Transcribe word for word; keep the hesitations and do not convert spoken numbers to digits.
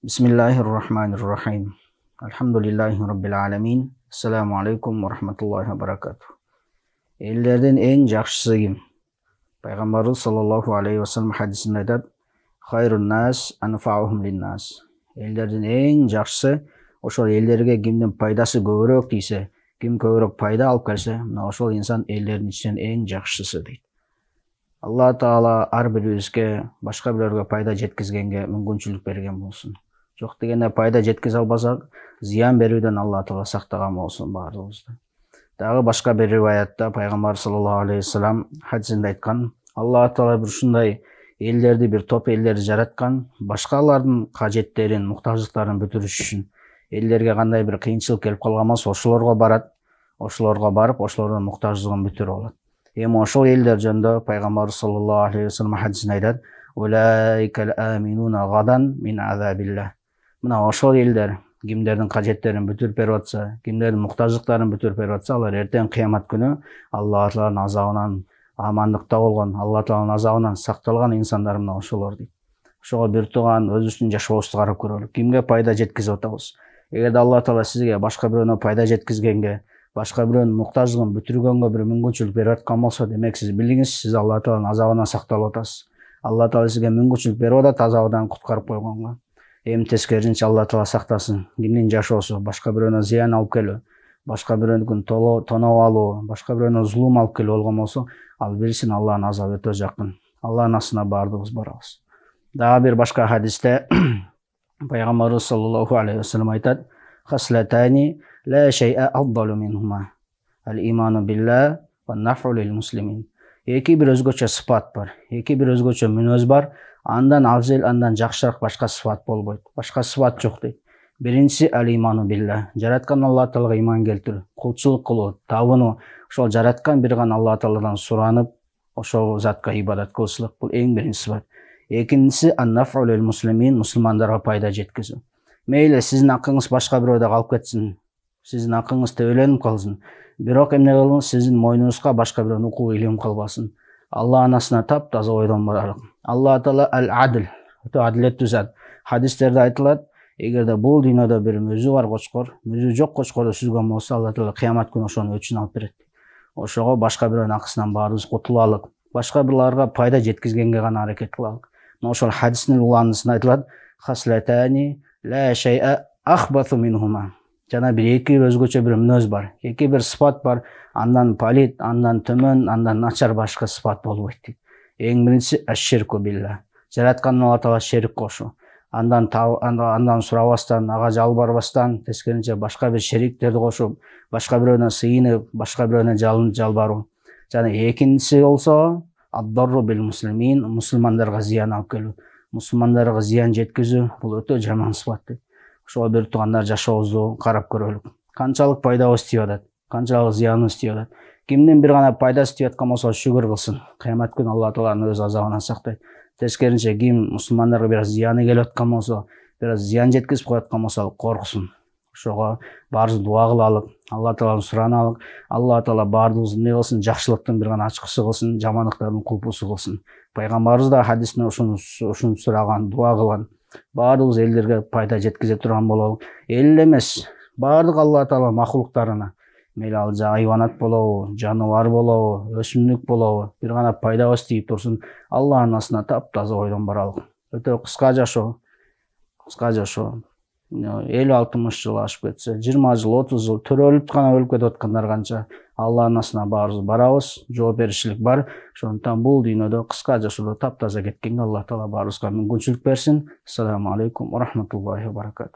Bismillahirrahmanirrahim. Alhamdulillahi rabbil alamin. Assalamu alaikum wa rahmatullahi wa barakatuh. Элдердин эң жакшысы ким? Пайгамбарыбыз саллаллаху алейхи ва саллям хадисинде айтат: "Хайрун нас анфаухум линнас." Элдердин эң жакшысы ошол элдерге кимдин пайдасы көбүрөөк тийсе, ким көбүрөөк пайда алып келсе, мына ошол инсан элдердин ичинен эң жакшысы дейт. Алла Таала ар бирибизге башка бирөөгө пайда жеткизгенге мүмкүнчүлүк берген болсун. Жок дегенде пайда жеткизе албасак, зыян берүүдөн Алла Таала сактаган болсун баарыбызды. Дагы башка бир риваятта пайгамбар саллаллаху алейхи ва саллям хадисинде айткан: Алла Таала бир ушундай элдерди, бир топ элдерди жараткан, башкалардын кажеттерин, муктаждыктарын бүтүрүш үчүн. Элдерге кандай бир кыйынчылык келип калган болсо, ошолорго барат, ошолорго барып, ошолордун муктаждыгын бүтүрүп алат. Эми ошол элдер жөнүндө пайгамбар саллаллаху алейхи ва саллям хадисинде айтат: "Улайкал аминуна гадан мин азабилlah." Мына ошол элдер кимдердин кажеттерин бүтүрүп берип атса, кимдердин муктаждыктарын бүтүрүп берип атса, алар эртең кыямат күнү Алла Тааланын азабынан амандыкта болгон, Алла Тааланын азабынан сакталган инсандар мына ошолор дейт. Ошого бир тууган өзүбүздүн жашообузду карап көрөлү. Кимге пайда жеткизип атабыз? Эгерде Алла Таала сизге башка бирөөнө пайда жеткизгенге, башка бирөөнүн муктаждыгын бүтүргөнгө бир мүмкүнчүлүк берип аткан болсо, демек сиз билиңиз, сиз Алла Тааланын азабынан сакталып атасыз. Алла Таала сизге мүмкүнчүлүк берип атат азабынан куткарып койгонго. Эми тескерисинче Алла Таала сактасын. Кимдин жашоосу башка бирөөнө зыян алып келүү, башка бирөөнүкүн тоноп алуу, башка бирөөнө зулум алып келүү болгон болсо, ал билсин Алланын азабы өтө жакын. Алланын астына баардыгыбыз барабыз. Дагы бир башка хадисте пайгамбарыбыз саллаллаху алейхи ва саллям айтат: "Хаслатани ла шай'a афдалу минхума. Ал-иману билла ва наф'у лил муслимин." Эки бир өзгөчө сыпат бар, эки бир өзгөчө мүнөз бар. Андан афзел, андан жакшыраак башка сыпат болбойт. Башка сыпат жок дейт. Биринчиси ал-иману билла. Жараткан Алла Таалага иман келтирүү, кулчулук кылуу, табынуу, ошол жараткан бир гана Алла Тааладан суранып, ошол затка ибадат кылышлык. Бул эң биринчи сыпат. Экинчиси ан-наф'у лил муслимин, мусулмандарга пайда жеткизүү. Мейли сиздин акыңыз башка бирөөдө калып кетсин, сиздин акыңыз төбөлөнүп калсын, бирок эмне кылыңыз, сиздин мойнуңузга башка бирөөнүн укугу илип калбасын. Алланын астына таптаза ойдон баралык. Алла Таала ал-адл, өтө адилеттүү зат. Хадистерде айтылат, эгерде бул дүйнөдө бир мүзү бар кочкор, мүзү жок кочкорду сүзгөн болсо, Алла Таала кыямат күнү ошонун өчүн алып берет. Ошого башка бирөөнүн акысынан баарыбыз кутулалык. Башка бирлерге пайда жеткизгенге гана аракет кылалык. Мына ошол хадистин уланысында айтылат: "Хаслатани ла шай'a ахбату минхума." Жана бир эки өзгөчө бир мүнөз бар, эки бир сыпат бар. Андан палит, андан төмөн, андан начар башка сыпат болбойт дейт. Эң биринчиси аш-ширку билла. Жараткан Алла Таала шерик кошуу. Андан андан сурабастан, ага жалбарбастан, тескерисинче башка бир шериктерди кошуп, башка бирөөнө сыйынып, башка бирөөнө жалынып жалбаруу. Жана экинчиси болсо ад-дарру бил муслимин, мусулмандарга зыян алып келүү. Мусулмандарга зыян жеткизүү бул өтө жаман сыпат дейт. Ошого бир туугандар жашообузду карап көрөлүк. Канчалык пайдабыз тийип атат, канчалык зыяныбыз тийип атат. Кимдин бир гана пайдасы тийип аткан болсо, шүгүр кылсын. Кыямат күнү Алла Тааланын өз азабынан сактайт. Тескерисинче ким мусулмандарга бир аз зыяны келип аткан болсо, бир аз зыян жеткизип коюп аткан болсо, корксун. Ошого баарыбыз дуа кылалык, Алла Тааладан сураналык. Алла Таала баардыгыбызды эмне кылсын, жакшылыктын бир гана ачкычы кылсын, жамандыктардын кулпусу кылсын. Пайгамбарыбыз да хадисинде ушуну ушуну сураган, дуа кылган. Баардыгыбыз элдерге пайда жеткизе турган бололук. Эл эмес, баардык Алла Таала махлуктарына, мейли ал айванат болобу, жаныбар болобу, өсүмдүк болобу, бир гана пайдабыз тийип турсун. Алланын астына таптаза ойдон баралык. Өтө кыска жашоо, кыска жашоо. элүү алтымыш жыл ашып кетсе, жыйырма жыл, отуз жыл төрөлүп гана өлүп кетип аткандар канча. Алланын астына баарыбыз барабыз, жооп беришилик бар. Ошондуктан бул дүйнөдө кыска жашоодо таптаза кеткенге Алла Таала баарыбызга мүмкүнчүлүк берсин. Ассаламу алейкум ва рахматуллахи ва баракатух.